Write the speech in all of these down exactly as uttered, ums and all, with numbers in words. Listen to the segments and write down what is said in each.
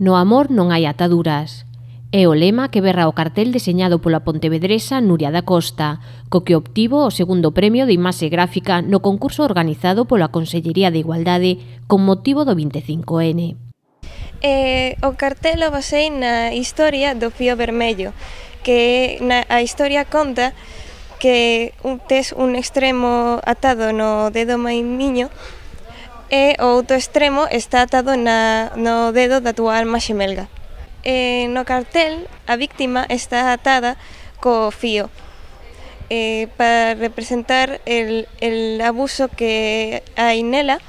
No amor non hai ataduras. É o lema que berra o cartel deseñado pola pontevedresa Nuria da Costa, co que obtivo o segundo premio de imaxe gráfica no concurso organizado pola Consellería de Igualdade con motivo do vinte e cinco ene. Eh, o cartel o basei na historia do fío vermello, que na, a historia conta que un, tes un extremo atado no dedo maimiño e o outro extremo está atado na, no dedo da túa alma xemelga. E no cartel a víctima está atada co fío eh, para representar el, el abuso que hai nela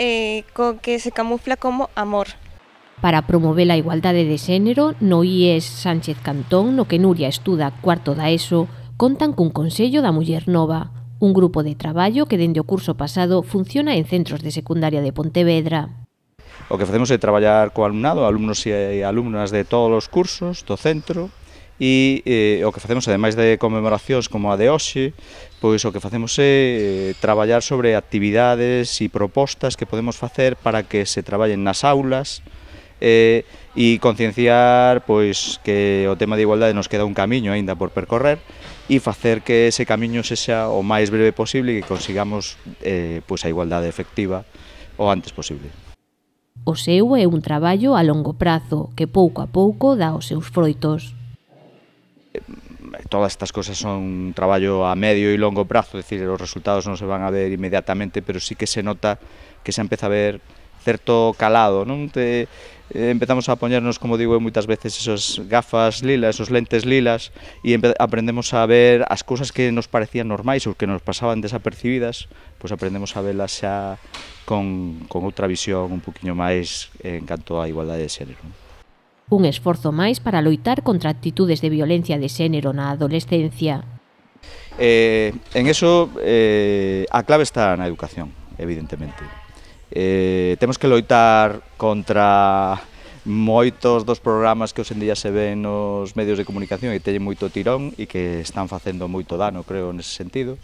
eh, co que se camufla como amor. Para promover a igualdade de xénero, no I E S Sánchez Cantón, no que Nuria estuda cuarto da ESO, contan cun Consello da Muller Nova, un grupo de traballo que dende o curso pasado funciona en centros de secundaria de Pontevedra. O que facemos é traballar co alumnado, alumnos e alumnas de todos os cursos do centro, e eh, o que facemos, ademais de conmemoracións como a de hoxe, pois o que facemos é eh, traballar sobre actividades e propostas que podemos facer para que se traballen nas aulas eh, e concienciar pois que o tema de igualdade nos queda un camiño aínda por percorrer e facer que ese camiño sexa o máis breve posible e que consigamos eh, pois a igualdade efectiva o antes posible. O seu é un traballo a longo prazo que pouco a pouco dá os seus froitos. Todas estas cosas son un traballo a medio e longo prazo, é dicir, os resultados non se van a ver inmediatamente, pero sí que se nota que se empeza a ver certo calado, non? Te, eh, empezamos a poñernos, como digo moitas veces, esas gafas lilas, esos lentes lilas, e aprendemos a ver as cousas que nos parecían normais ou que nos pasaban desapercibidas, pois aprendemos a velas xa con, con outra visión un poquinho máis en canto á igualdade de xénero. Un esforzo máis para loitar contra actitudes de violencia de xénero na adolescencia. Eh, en eso, eh, a clave está na educación, evidentemente. Eh, temos que loitar contra moitos dos programas que hoxe en día se ven nos medios de comunicación e teñen moito tirón e que están facendo moito dano, creo, nese sentido.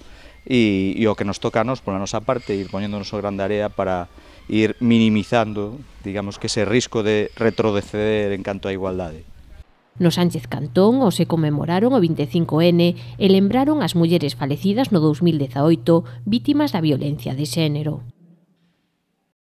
E, e o que nos toca a nos, pola nosa parte, ir poñéndonos o grande área para ir minimizando, digamos, que ese risco de retroceder en canto á igualdade. No Sánchez Cantón hoxe conmemoraron o vinte e cinco ene e lembraron as mulleres falecidas no dous mil dezaoito vítimas da violencia de xénero.